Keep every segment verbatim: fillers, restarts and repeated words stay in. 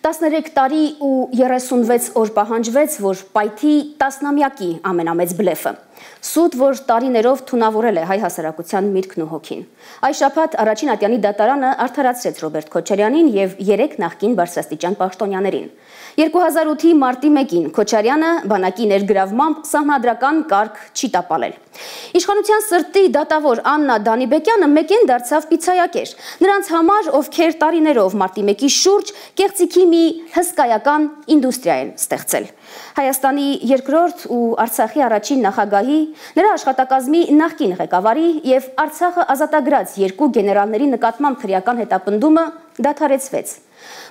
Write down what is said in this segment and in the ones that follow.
տասներեք տարի ու երեսունվեց օր պահանջվեց, որ պայթի տասնամյակի ամենամեծ բլեֆը։ Սուտ, որ տարիներով թունավորել է հայ հասարակության միտքն ու հոգին։ Այս շաբաթ առաջին ատյանի դատարանը արդարացրեց Ռոբերտ Քոչարյանին եւ երեք նախկին բարձրաստիճան պաշտոնյաներին։ երկու հազար ութի մարտի մեկին Քոչարյանը բանակի ներգրավմամբ սահմանադրական կարգ չի տապալել։ Իշխանության սրտի դատավոր Աննա Դանիբեկյանը մեկեն դարձավ պիցայակեր։ Նրանց համար, ովքեր տարիներով մարտի մեկի շուրջ կեղծիքի մի հսկայական ինդուստրիա են ստեղծել։ Հայաստանի երկրորդ ու Արցախի առաջին նախագահի, նրա աշխատակազմի նախկին ղեկավարի եւ Արցախը ազատագրած երկու գեներալների նկատմամբ քրեական հետապնդումը դադարեցվեց։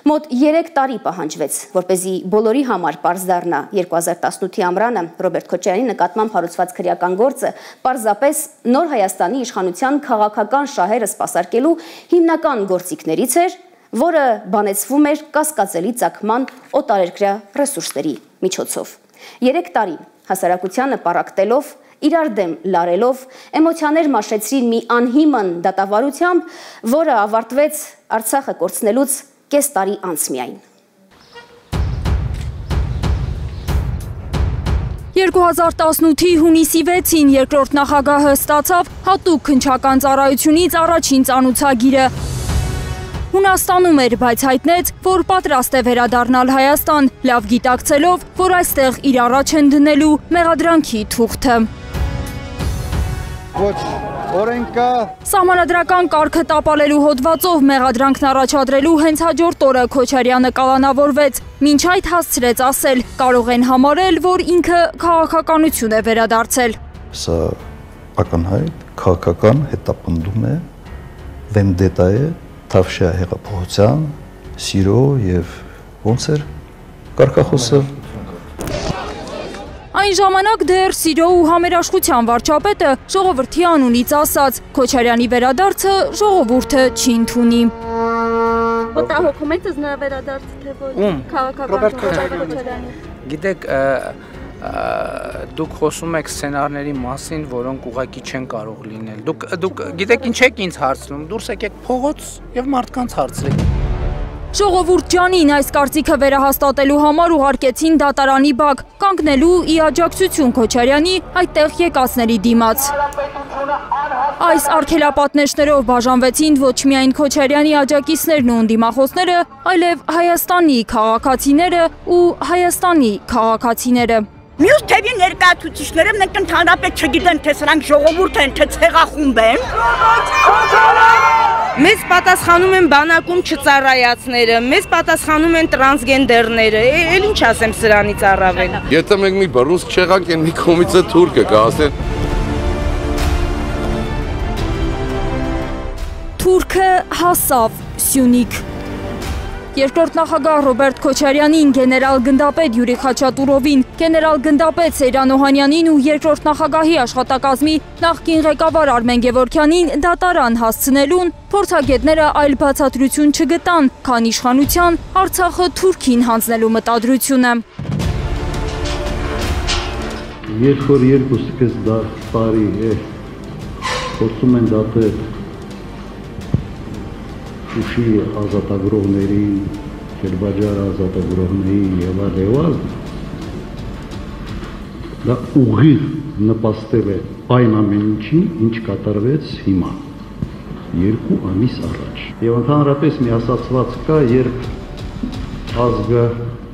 Մոտ երեք տարի պահանջվեց, որպեսզի բոլորի համար պարզ դառնա երկու հազար տասնութի ամռանը Ռոբերտ Քոչարյանի նկատմամբ հարուցված քրեական գործը պարզապես նոր Հայաստանի իշխանության քաղաքական շահերը սպասարկելու հիմնական գործիքներից էր, որը բանեցվում էր կասկածելի ծագման օտարերկրյա ռեսուրսների միջոցով։ Երեք տարի հասարակությանը պառակտելով, իրար դեմ լարելով, էմոցիաներ մաշեցրին մի անհիմն դատավարությամբ, որը ավարտվեց Արցախը կորցնելուց կես տարի անց միայն։ երկու հազար տասնութի հունիսի վեցին երկրորդ նախագահը ստացավ հատուկ քննչական ծառայությունից առաջին ծանուցագիրը։ Հունաստանում էր, բայց հայտնեց, որ պատրաստ է վերադառնալ Հայաստան, լավ գիտակցելով, որ այստեղ իր առաջ են դնելու մեղադրանքի թուղթը։ Ոչ, օրենքա Սահմանադրական կարգը տապալելու հոդվածով մեղադրանքն առաջադրելու հենց հաջորդ օրը Քոչարյանը կալանավորվեց, մինչ այդ հասցրեց ասել, կարող են համարել, որ ինքը քաղաքականություն է վերադարձել։ Սա ակնհայտ քաղաքական հետապնդում է, վենդետա է, Թավշյա հեղափոխության, սիրո եւ ոնց էր կարգախոսը։ Այն ժամանակ դեռ սիրո ու համերաշխության վարչապետը ժողովրդի անունից ասաց, Քոչարյանի վերադարձը ժողովուրդը չի ընդունի։ Մտահոգում եք նրա վերադարձը, թե ոչ քաղաքական Քոչարյանի։ Գիտեք, դուք խոսում եք սցենարների մասին, որոնք ուղղակի չեն կարող լինել։ Դուք դուք գիտեք ինչ եք ինձ հարցնում, դուրս եկեք փողոց եւ մարդկանց հարցրեք։ Ժողովուրդ ջանին այս կարծիքը վերահաստատելու համար ուղարկեցին դատարանի բակ, կանգնելու ի աջակցություն Քոչարյանի այդտեղ եկածների դիմաց։ Այս արգելապատնեշներով բաժանվեցին ոչ միայն Քոչարյանի աջակիցներն ու ընդդիմախոսները, այլև Հայաստանի քաղաքացիները ու Հայաստանի քաղաքացիները։ Մյուս թևի ներկայացուցիչները մենք ընդհանրապես չգիտեն, թե սրանք ժողովուրդ են, թե ցեղախումբ են։ Մեզ պատասխանում են բանակում չծառայացները, մեզ պատասխանում են տրանսգենդերները, էլ ինչ ասեմ սրանից առավել։ Եթե մենք մի բռունցք չեղանք, են մի կողմիցը թուրքը կասեն։ Թուրքը հասավ Սյունիք։ Երկրորդ նախագահ Ռոբերտ Քոչարյանին, գեներալ գնդապետ Յուրի Խաչատուրովին, գեներալ գնդապետ Սեյրան Օհանյանին ու երկրորդ նախագահի աշխատակազմի նախկին ղեկավար Արմեն Գևորգյանին դատարան հասցնելուն փորձագետները այլ բացատրություն չգտան, քան իշխանության Արցախը Թուրքին հանձնելու մտադրությունը։ Երբ որ երկուսս տարի է փորձում են դատել Շուշի ազատագրողներին, Կերբաջար ազատագրողներին եւ այլն, դա ուղիղ նպաստել է այն ամեն ինչին, ինչ կատարվեց հիմա, երկու ամիս առաջ։ Եվ ընդհանրապես մի ասացված կա, երբ ազգը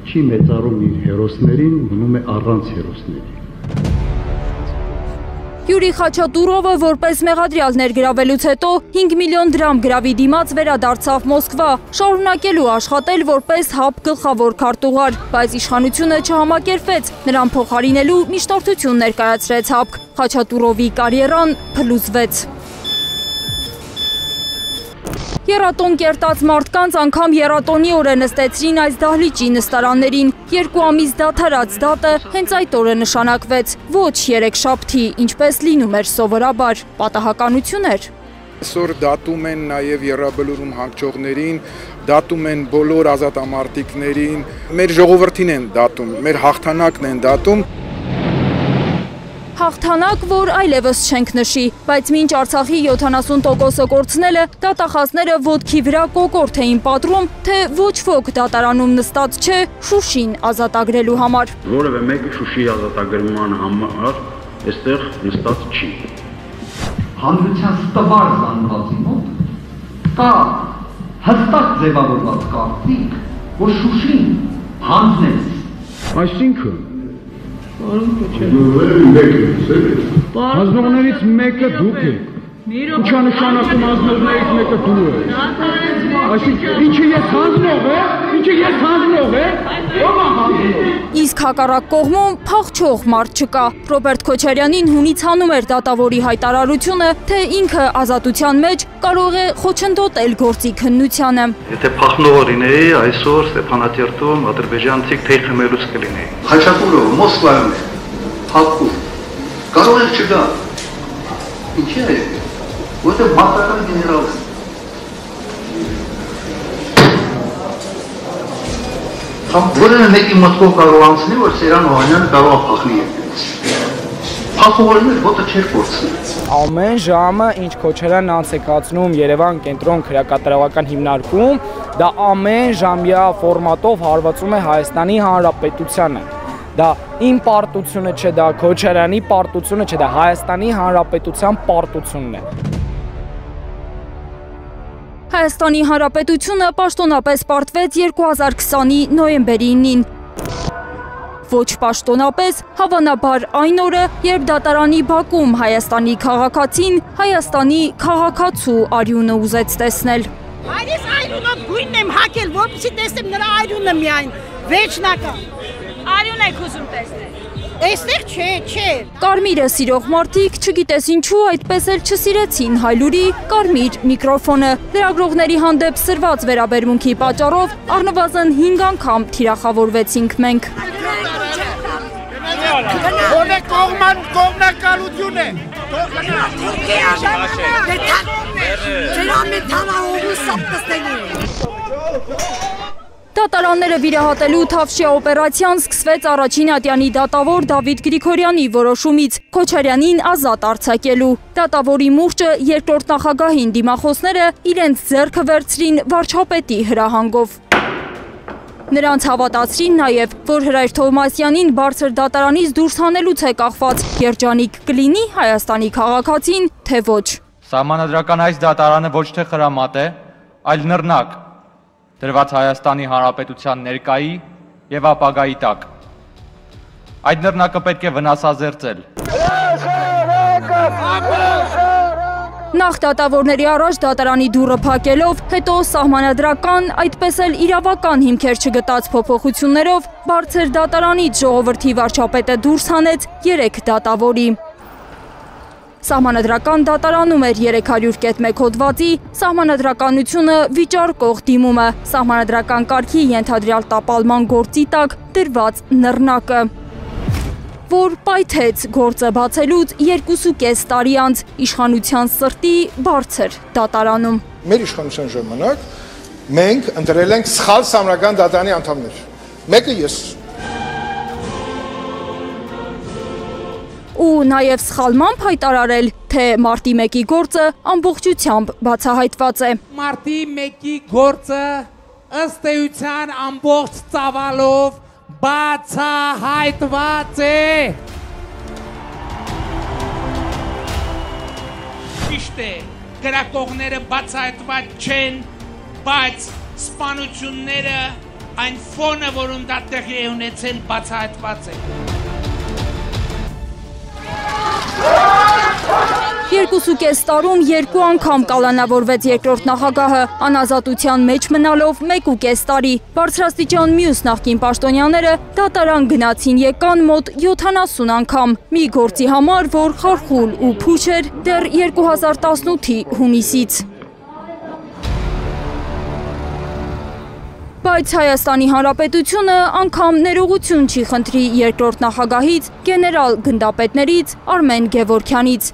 չի մեծարում իր հերոսներին, մնում է առանց հերոսների։ Յուրի Խաչատուրովը որպես մեղադրյալ ներգրավելուց հետո հինգ միլիոն դրամ գրավի դիմաց վերադարձավ Մոսկվա, շարունակելու աշխատել որպես ՀԱՊ գլխավոր քարտուղար, բայց իշխանությունը չհամակերպվեց, նրան փոխարինելու միջնորդություն ներկայացրեց ՀԱՊԿ, Խաչատուրովի կարիերան փլուզվեց։ Եռատոն կերտած մարդկանց անգամ եռատոնի օրը նստեցրին այս դահլիճի նստարաններին, երկու ամիս դադարած դատը հենց այդ օրը նշանակվեց, ոչ երեքշաբթի, ինչպես լինում էր սովորաբար, պատահականություն էր։ Այսօր դատում են նաև եռաբլուրում հանգչողներին, դատում են բոլոր ազատամարտիկներին, մեր ժողովրդին են դատում, մեր հաղթանակն են դատում։ Հաղթանակ, որ այլևս չենք նշի, բայց մինչ Արցախի յոթանասուն տոկոսը կորցնելը դատախազները ոտքի վրա կոկորդ էին պատռում, թե ոչ ոք դատարանում նստած չէ Շուշին ազատագրելու համար։ Որևէ մեկը Շուշի ազատագրման համար այստեղ նստած չի։ Հանրության ստվար զանգվածի մոտ կա հստակ ձևավորված կարծիք, որ Շուշին հանձնեց։ Այսինքն Հանձնողներից մեկը դուք եք, ինչա նշանակում հանձնողներից մեկը դու եք, այսինքն ինչը ես հանձնող է, ինչը ես հանձնող է, ով է հանձնող։ Իսկ հակառակ կողմում փախչող մարդ չկա, Ռոբերտ Քոչարյանին հունից հանում էր դատավորի հայտարարությունը, թե ինքը ազատության մեջ կարող է խոչընդոտել գործի քննությանը։ Եթե փախնողը լինեի, այսօր Ստեփանատերտում ադրբեջանցիք թեյ խմելուց կլինեի։ Խաչատուրով, Մոսկվայում է, Հակում, կարող եք չգա, ինչի է, որտեղ մարտական գեներալ է։ Կամ որևէ մեկի մտքով կարող անցնի, որ Սերան Օհանյանը կարող է փախնի երկրից։ Փախողորներ ոտը չէր կորցնել։ Ամեն ժամը ինչ Քոչարյանն անց է կացնում Երևան կենտրոն քրեակատարողական հիմնարկում, դա ամեն ժամյա ֆորմատով հարվածում է Հայաստանի Հանրապետությանը։ Դա իմ պարտությունը չէ, դա Քոչարյանի պարտությունը չէ, դա Հայաստանի Հանրապետության պարտությունն է։ Հայաստանի Հանրապետությունը պաշտոնապես պարտվեց երկու հազար քսանի նոյեմբերի ինին։ Ոչ պաշտոնապես, հավանաբար այն օրը, երբ դատարանի բակում Հայաստանի քաղաքացին Հայաստանի քաղաքացու արյունը ուզեց տեսնել։ Այս արյունով գույնն եմ հակել, որպեսզի տեսնեմ նրա արյունը միայն, վերջնական։ Արյուն եք ուզում տեսնել։ Այստեղ չէ, չէ։ Կարմիրը սիրող մարդիկ, չգիտես ինչու, այդպես էլ չսիրեցին Հայլուրի կարմիր միկրոֆոնը։ Լրագրողների հանդեպ սրված վերաբերմունքի պատճառով առնվազն հինգ անգամ թիրախավորվեցինք մենք։ Որը կողման կողմնակալություն է։ Դատարանները վիրահատելու Թավշյա օպերացիան սկսվեց առաջին ատյանի դատավոր Դավիթ Գրիգորյանի որոշումից Քոչարյանին ազատ արձակելու։ Դատավորի մուրճը երկրորդ նախագահին դիմախոսները իրենց ձեռքը վերցրին վարչապետի հրահանգով։ Նրանց հավատացրին նաև, որ Հրայր Թովմասյանին բարձր դատարանից դուրս հանելուց է կախված, երջանիկ կլինի Հայաստանի քաղաքացին, թե ոչ։ Սահմանադրական այս դատարանը ոչ թե խրամատ է, այլ նռնակ, դրված Հայաստանի Հանրապետության ներկայի և ապագայի տակ։ Այդ նռնակը պետք է վնասազերծել։ Նախ դատավորների առաջ դատարանի դուռը փակելով, հետո սահմանադրական, այդպես էլ իրավական հիմքեր չգտած փոփոխություններով բարձր դատարանից ժողովրդի վարչապետը դուրս հանեց երեք դատավորի։ Սահմանադրական դատարանում էր երեք հարյուր մեկ հոդվածի սահմանադրականությունը վիճարկող դիմումը, սահմանադրական կարգի ենթադրյալ տապալման գործի տակ դրված նռնակը, որ պայթեց գործը բացելուց երկուսուկես տարի անց իշխանության սրտի բարձր դատարանում։ Մեր իշխանության ժամանակ մենք ընտրել ենք սխալ սահմանադրական դատարանի անդամներ։ Մեկը ես։ Ու նաև սխալմամբ հայտարարել, թե մարտի մեկի գործը ամբողջությամբ բացահայտված է։ Մարտի մեկի գործը ըստ էության ամբողջ ծավալով բացահայտված է։ Ճիշտ է, գրակողները բացահայտված չեն, բայց սպանությունները այն ֆոնը, որում դա տեղի է ունեցել, բացահայտված է։ Երկուսուկես տարում երկու անգամ կալանավորվեց երկրորդ նախագահը, անազատության մեջ մնալով մեկուկես տարի։ Բարձրաստիճան մյուս նախկին պաշտոնյաները դատարան գնացին եկան մոտ յոթանասուն անգամ, մի գործի համար, որ խարխուլ ու փուչ էր դեռ երկու հազար տասնութի հունիսից։ Բայց Հայաստանի Հանրապետությունը անգամ ներողություն չի խնդրի երկրորդ նախագահից, գեներալ գնդապետներից, Արմեն Գևորգյանից։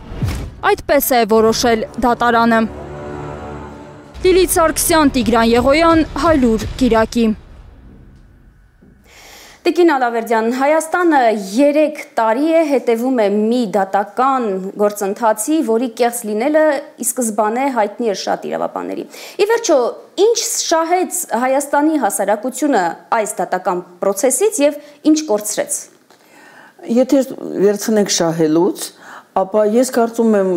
Այդպես է որոշել դատարանը։ Լիլիթ Սարգսյան, Տիգրան Եղոյան, Հայլուր, Կիրակի։ Տիկին Ալավերդյան, Հայաստանը երեք տարի է հետևում է մի դատական գործընթացի, որի կեղծ լինելը ի սկզբանե հայտնի էր շատ իրավաբանների։ Ի վերջո, ինչ շահեց Հայաստանի հասարակությունը այս դատական պրոցեսից եւ ինչ կորցրեց։ Եթե վերցնենք շահելուց, ապա ես կարծում եմ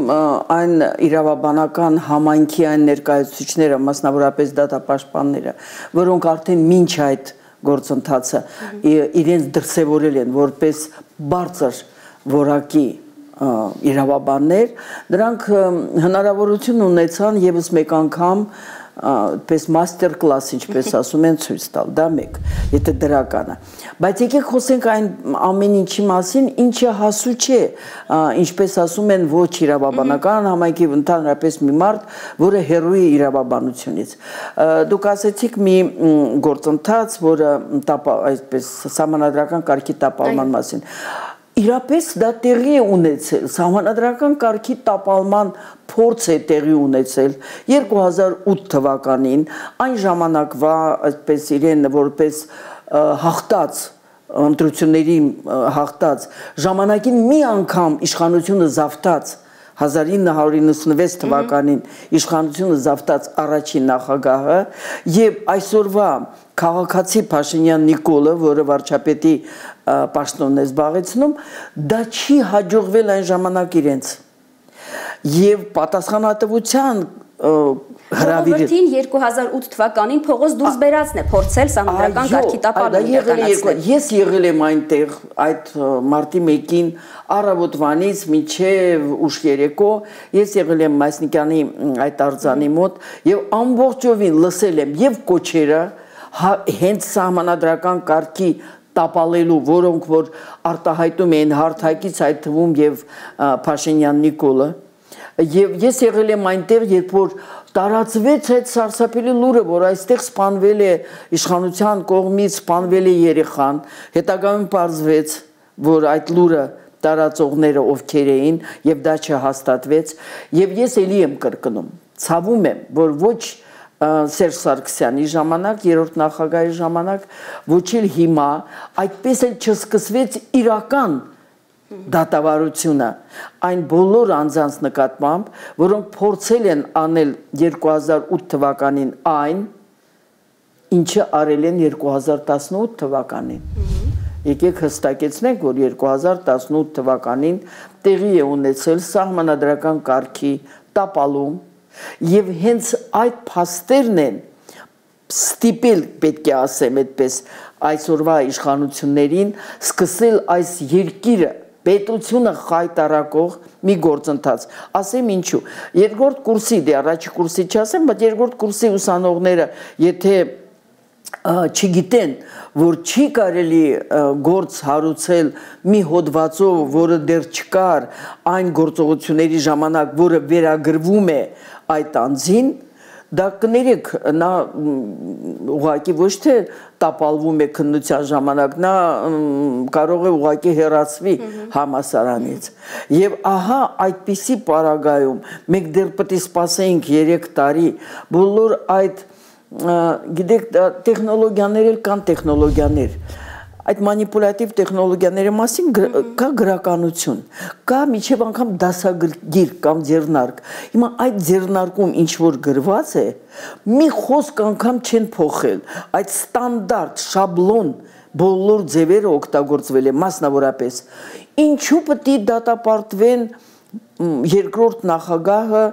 այն իրավաբանական համայնքի այն ներկայացուցիչները, մասնավորապես դատապաշտպանները, որոնք արդեն մինչ այդ գործընթացը իրենց դրսևորել են որպես բարձր որակի իրավաբաններ, նրանք հնարավորություն ունեցան եւս մեկ անգամ պես մաստեր կլաս, ինչպես ասում են, ցույց տալ, դա մեկ, եթե դրականը։ Բայց եկեք խոսենք այն ամեն ինչի մասին, ինչը հասու չէ, ինչպես ասում են, ոչ իրավաբանական համայնքի ընդհանրապես մի մարդ, որը հեռու է իրավաբանությունից։ Դուք ասեցիք մի գործընթաց, որը այսպես սահմանադրական կարգի տապալման մասին։ Իրապես դա տեղի է ունեցել, սահմանադրական կարգի տապալման փորձ է տեղի ունեցել երկու հազար ութ թվականին, այն ժամանակվա այսպես իրեն որպես հաղթած ընտրությունների հաղթած ժամանակին մի անգամ իշխանությունը զավթած հազար ինը հարյուր իննսունվեց թվականին իշխանությունը զավթած առաջին նախագահը եւ այսօրվա քաղաքացի Փաշինյան Նիկոլը, որը վարչապետի պաշտոնն է զբաղեցնում, դա չի հաջողվել այն ժամանակ իրենց։ Եվ պատասխանատվության հրավիրին երկու հազար ութ թվականին փողոց դուրս բերածն է փորձել սահմանադրական կարգի տապալումը։ Ես եղել եմ այնտեղ այդ մարտի մեկին առավոտվանից մինչև ուշ երեկո, ես եղել եմ Մասնիկյանի այդ արձանի մոտ եւ ամբողջովին լսել եմ եւ կոչերը հենց սահմանադրական կարգի տապալելու, որոնք որ արտահայտում են հարթակից այդ թվում եւ Փաշինյան Նիկոլը, եւ ես եղել եմ այնտեղ, երբ որ տարածվեց այդ սարսափելի լուրը, որ այստեղ սպանվել է իշխանության կողմից սպանվել է երեխան, հետագայում պարզվեց, որ այդ լուրը տարածողները ովքեր էին եւ դա չհաստատվեց, եւ ես էլի եմ կրկնում, ցավում եմ, որ ոչ Սերժ Սարգսյանի ժամանակ, երրորդ նախագահի ժամանակ, ոչ էլ հիմա այդպես էլ չսկսվեց իրական դատավարությունը այն բոլոր անձանց նկատմամբ, որոնք փորձել են անել երկու հազար ութ թվականին այն, ինչը արել են երկու հազար տասնութ թվականին։ Եկեք հստակեցնենք, որ երկու հազար տասնութ թվականին տեղի է ունեցել սահմանադրական կարգի տապալում եւ հենց այդ փաստերն են ստիպել, պետք է ասեմ այդպես, այսօրվա իշխանություններին սկսել այս երկիրը պետությունը խայտարակող մի գործընթաց։ Ասեմ ինչու։ Երկրորդ կուրսի, դե առաջի կուրսի չասեմ, բայց երկրորդ կուրսի ուսանողները, եթե չգիտեն, որ չի կարելի գործ հարուցել մի հոդվածով, որը դեռ չկար այն գործողությունների ժամանակ, որը վերագրվում է այդ անձին, դա կներեք, նա ուղղակի ոչ թե տապալվում է քննության ժամանակ, նա կարող է ուղղակի հեռացվի համալսարանից։ Եվ ահա այդպիսի պարագայում մենք դեռ պետք է սպասենք երեք տարի, բոլոր այդ գիտեք, տեխնոլոգիաներ էլ կան տեխնոլոգիաներ, այդ մանիպուլատիվ տեխնոլոգիաների մասին կա գրականություն, կա միջև անգամ դասագիր կամ ձեռնարկ։ Հիմա այդ ձեռնարկում ինչ որ գրված է, մի խոսք անգամ չեն փոխել, այդ ստանդարտ, շաբլոն բոլոր ձևերը օգտագործվել է, մասնավորապես։ Ինչու պետք է դատապարտվեն երկրորդ նախագահը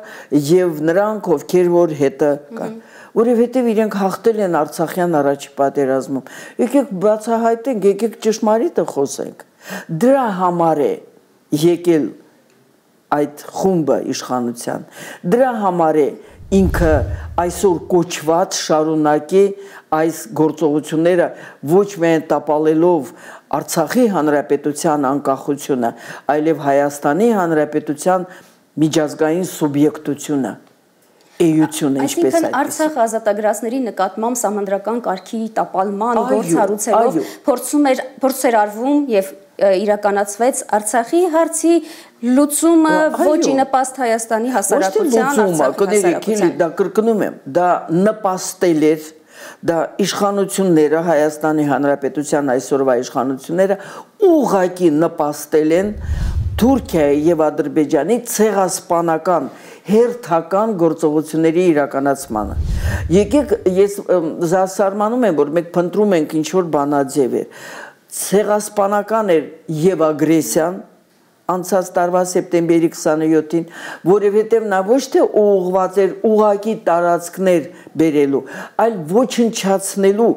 եւ նրանք, ովքեր որ հետը կան։ Որովհետև իրենք հաղթել են Արցախյան առաջի պատերազմում։ Եկեք բացահայտենք, եկեք ճշմարիտը խոսենք։ Դրա համար է եկել այդ խումբը իշխանության։ Դրա համար է ինքը այսօր կոչված շարունակի այս գործողությունները ոչ միայն տապալելով Արցախի հանրապետության անկախությունը, այլև Հայաստանի հանրապետության միջազգային սուբյեկտությունը։ Այսինքն Արցախ ազատագրածների նկատմամբ սահմանադրական կարգի տապալման գործ հարուցելով փորձ էր արվում եւ իրականացվեց Արցախի հարցի լուծումը ոչի նպաստ Հայաստանի հասարակության, Արցախի հասարակության։ Դա կրկնում եմ, դա նպաստել էր դա իշխանությունները, Հայաստանի Հանրապետության այսօրվա իշխանությունները ուղղակի նպաստել են Թուրքիայի եւ Ադրբեջանի ցեղասպանական հերթական գործողությունների իրականացմանը։ Եկեք ես զարմանում եմ, որ մենք փնտրում ենք ինչ որ բանաձևեր։ Ցեղասպանական էր եւ ագրեսիան անցած տարվա սեպտեմբերի քսաներկուսին, որովհետև նա ոչ թե ուղղված էր ուղակի տարածքներ բերելու, այլ ոչնչացնելու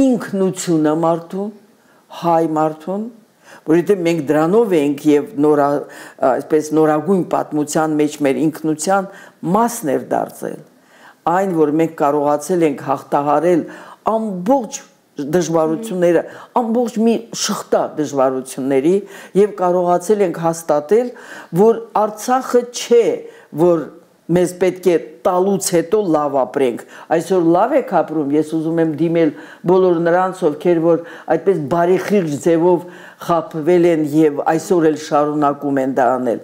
ինքնությունը մարդուն, հայ մարդուն, որովհետև մենք դրանով ենք եւ նորա, այսպես նորագույն պատմության մեջ մեր ինքնության մասն էր դարձել, այն որ մենք կարողացել ենք հաղթահարել ամբողջ դժվարությունները, ամբողջ մի շղթա դժվարությունների եւ կարողացել ենք հաստատել, որ Արցախը չէ, որ մեզ պետք է տալուց հետո լավ ապրենք։ Այսօր լավ եք ապրում, ես ուզում եմ դիմել բոլոր նրանց, ովքեր որ այդպես բարեխիղճ ձևով խաբվել են եւ այսօր էլ շարունակում են դա անել։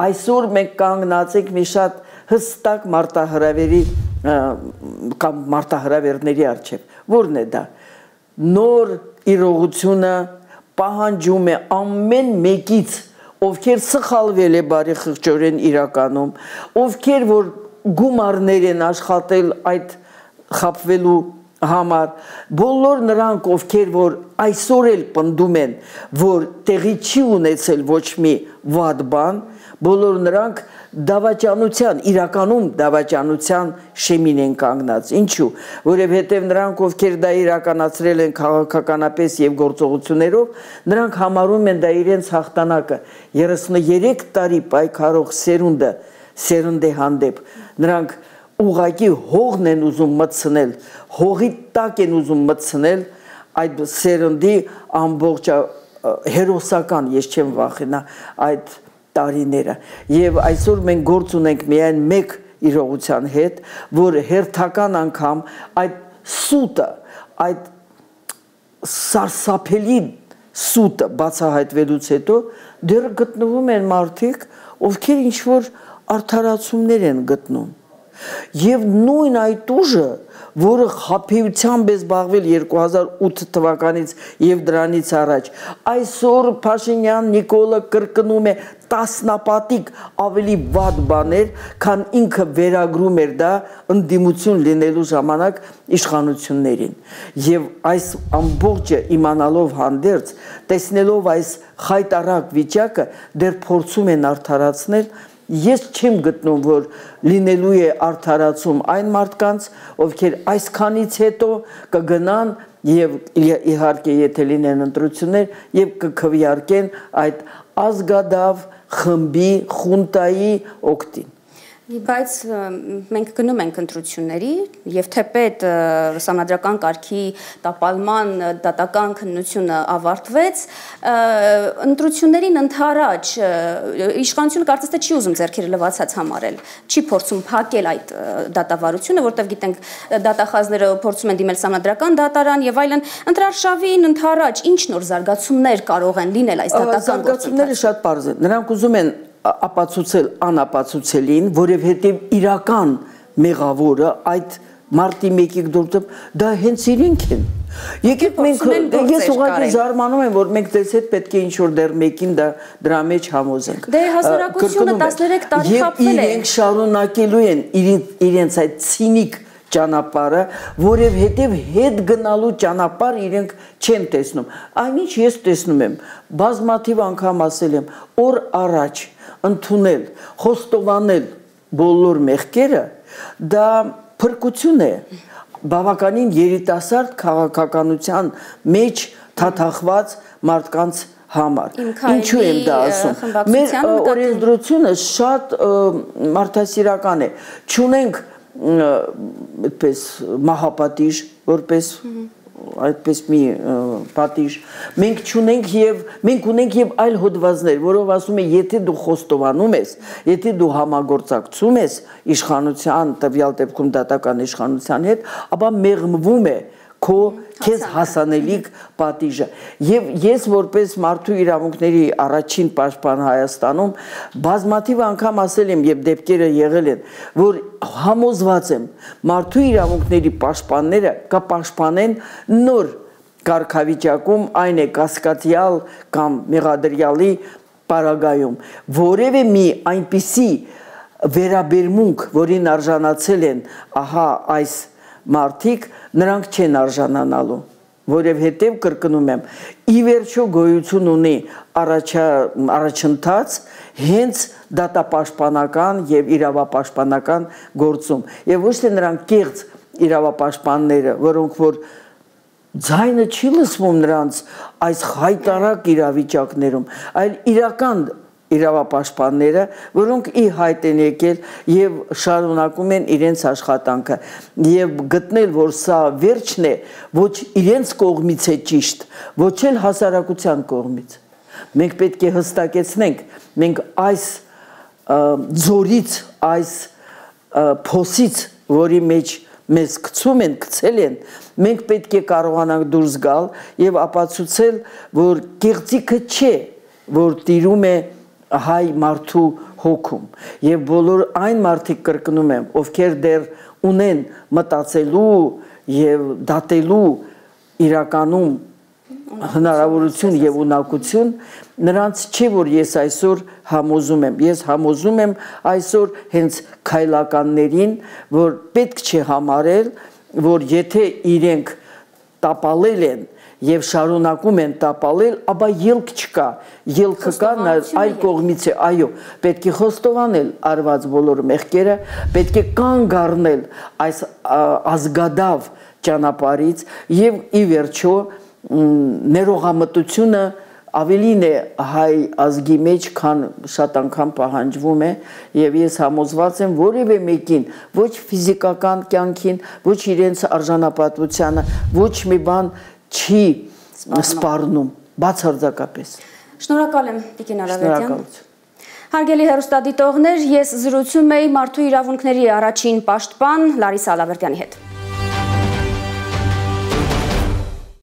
Այսօր մենք կանգնած ենք մի շատ հստակ մարտահրավերի կամ մարտահրավերների առջև։ Որն է դա։ Նոր իրողությունը պահանջում է ամեն մեկից, ովքեր սխալվել է բարեխիղճորեն իրականում, ովքեր որ գումարներ են աշխատել այդ խաբվելու համար, բոլոր նրանք, ովքեր որ այսօր էլ պնդում են, որ տեղի չի ունեցել ոչ մի վատ բան, բոլոր նրանք դավաճանության, իրականում դավաճանության շեմին են կանգնած։ Ինչու՞, որովհետև նրանք, ովքեր դա իրականացրել են քաղաքականապես եւ գործողություններով, նրանք համարում են դա իրենց հաղթանակը։ երեսուներեք տարի պայքարող սերունդը, սերնդի հանդեպ, նրանք ուղղակի հողն են ուզում մտցնել, հողի տակ են ուզում մտցնել այդ սերնդի ամբողջ հերոսական, ես չեմ վախենա այդ տարիները եւ այսօր մենք գործ ունենք միայն մեկ իրողության հետ, որ հերթական անգամ այդ սուտը, այդ սարսափելի սուտը բացահայտվելուց հետո դեռ գտնվում են մարդիկ, ովքեր ինչ որ արդարացումներ են գտնում։ Եվ նույն այդ ուժը, որը խաբեությամբ է զբաղվել երկու հազար ութ թվականից եւ դրանից առաջ, այսօր Փաշինյան Նիկոլը կրկնում է տասնապատիկ ավելի վատ բաներ, քան ինքը վերագրում էր դա ընդդիմություն լինելու ժամանակ իշխանություններին։ Եվ այս ամբողջը իմանալով հանդերձ, տեսնելով այս խայտարակ վիճակը, դեռ փորձում են արդարացնել։ Ես չեմ գտնում, որ լինելու է արդարացում այն մարդկանց, ովքեր այսքանից հետո կգնան եւ իհարկե եթե լինեն ընտրություններ եւ կքվեարկեն այդ ազգադավ խմբի խունտայի օգտին։ Բայց մենք գնում ենք ընտրությունների եւ թեպետ սահմանադրական կարգի տապալման դատական քննությունը ավարտվեց, ընտրություններին ընդառաջ իշխանությունը կարծես թե չի ուզում ձեռքերը լվացած համարել, չի փորձում փակել այդ դատավարությունը, որտեղ գիտենք դատախազները փորձում են դիմել սահմանադրական դատարան եւ այլն, ընտրարշավին ընդառաջ ինչ նոր զարգացումներ կարող են լինել այս դատական գործընթացում։ Զարգացումները շատ պարզ են, նրանք ուզում են ապացուցել անապացուցելին, որովհետև իրական մեղավորը այդ մարտի մեկի դուրսը դա հենց իրենք են։ Եկեք մենք ես ուղղակի զարմանում եմ, որ մենք դες հետ պետք է ինչ-որ դեռ մեկին դա դրա մեջ համոզենք։ Դե հասարակությունը տասներեք տարի խաբվել է։ Իրենք շարունակելու են իրենց այդ ցինիկ ճանապարհը, որովհետև հետ գնալու ճանապարհ իրենք չեն տեսնում։ Այնինչ ես տեսնում եմ, բազմաթիվ անգամ ասել եմ, օր առաջ ընդունել, խոստովանել բոլոր մեղքերը, դա փրկություն է, բավականին երիտասարդ քաղաքականության մեջ թաթախված մարդկանց համար։ Ինչու եմ դա ասում։ Մեր օրենսդրությունը շատ մարդասիրական է։ Չունենք այդպես մահապատիժ, որպես այդպես մի պատիժ։ Մենք չունենք եւ մենք ունենք եւ այլ հոդվածներ, որով ասում է, եթե դու խոստովանում ես, եթե դու համագործակցում ես իշխանության, տվյալ դեպքում դատական իշխանության հետ, ապա մեղմվում է քո քեզ հասանելիք պատիժը։ Եվ ես որպես մարդու իրավունքների առաջին պաշտպան Հայաստանում բազմաթիվ անգամ ասել եմ եւ դեպքերը եղել են, որ համոզված եմ մարդու իրավունքների պաշտպանները կպաշտպանեն նոր կարգավիճակում, այն է կասկածյալ կամ մեղադրյալի պարագայում, որևէ մի այնպիսի վերաբերմունք, որին արժանացել են ահա այս մարդիկ, նրանք չեն արժանանալու, որովհետև կրկնում եմ, ի վերջո գոյություն ունի առաջընթաց հենց դատապաշտպանական եւ իրավապաշտպանական գործում, եւ ոչ թե նրանք կեղծ իրավապաշտպանները, որոնք որ ձայնը չի լսվում նրանց այս հայտարարակ իրավիճակներում, այլ իրական իրավապաշտպանները, որոնք ի հայտ են եկել եւ շարունակում են իրենց աշխատանքը եւ գտնել, որ սա վերջն է, ոչ իրենց կողմից է ճիշտ, ոչ էլ հասարակության կողմից։ Մենք պետք է հստակեցնենք, մենք այս ձորից, այս փոսից, որի մեջ մեզ գցում են, գցել են, մենք պետք է կարողանանք դուրս գալ եւ ապացուցել, որ կեղծիքը չէ, որ տիրում է հայ մարդու հոգում եւ բոլոր այն մարդիկ կրկնում եմ, ովքեր դեռ ունեն մտածելու եւ դատելու իրականում հնարավորություն եւ ունակություն, նրանց չի, որ ես այսօր համոզում եմ, ես համոզում եմ այսօր հենց քայլականներին, որ պետք չէ համարել, որ եթե իրենք տապալել են եւ շարունակում են տապալել, ապա ելք չկա, ելքը կա այլ կողմից է, այո, պետք է խոստովանել արված բոլոր մեղքերը, պետք է կանգ առնել այս ազգադավ ճանապարհից եւ ի վերջո ներողամտությունը ավելին է հայ ազգի մեջ, քան շատ անգամ պահանջվում է եւ ես համոզված եմ որևէ մեկին, ոչ ֆիզիկական կյանքին, ոչ իրենց արժանապատվությանը, ոչ մի բան չի սպառնում, բացարձակապես։ Շնորհակալ եմ Տիկին Արավետյան։ Հարգելի հեռուստադիտողներ, ես զրուցում էի մարդու իրավունքների առաջին պաշտպան Լարիսա Ալավերդյանի հետ։